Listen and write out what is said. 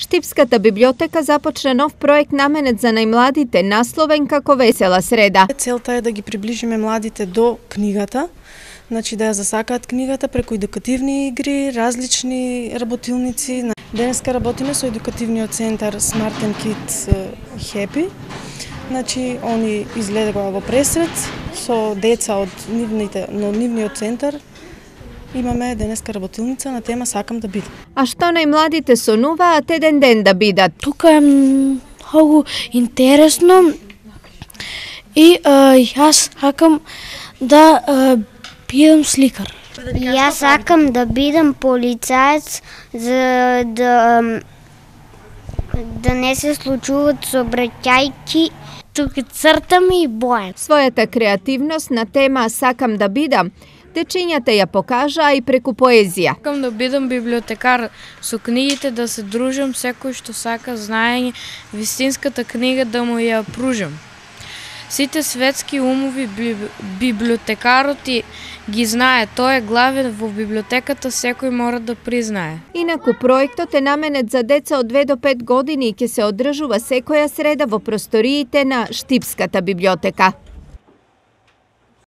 Штипската библиотека започна нов проект наменет за најмладите, насловен како Весела среда. Целта е да ги приближиме младите до книгата, значи да ја засакаат книгата преку едукативни игри, различни работилници. Денеска работиме со едукативниот центар Smart and Kids Happy. Значи, они излегоа во пресрет со деца од нивниот центар. Имаме денеска работилница на тема Сакам да бидам. А што најмладите сонуваат еден ден да бидат? Тука е многу интересно и јас сакам да бидам сликар. Јас сакам да бидам полицаец за да не се случуваат сообраќајки. Тука цртам и бојам. Својата креативност на тема Сакам да бидам дечињата ја покажаа и преку поезија. Сакам да бидам библиотекар, со книгите да се дружам, секој што сака знаење, вистинската книга да му ја пружам. Сите светски умови библиотекарот ги знае, тој е главен во библиотеката, секој мора да признае. Инаку проектот е наменет за деца од 2 до 5 години и ќе се одржува секоја среда во просториите на Штипската библиотека.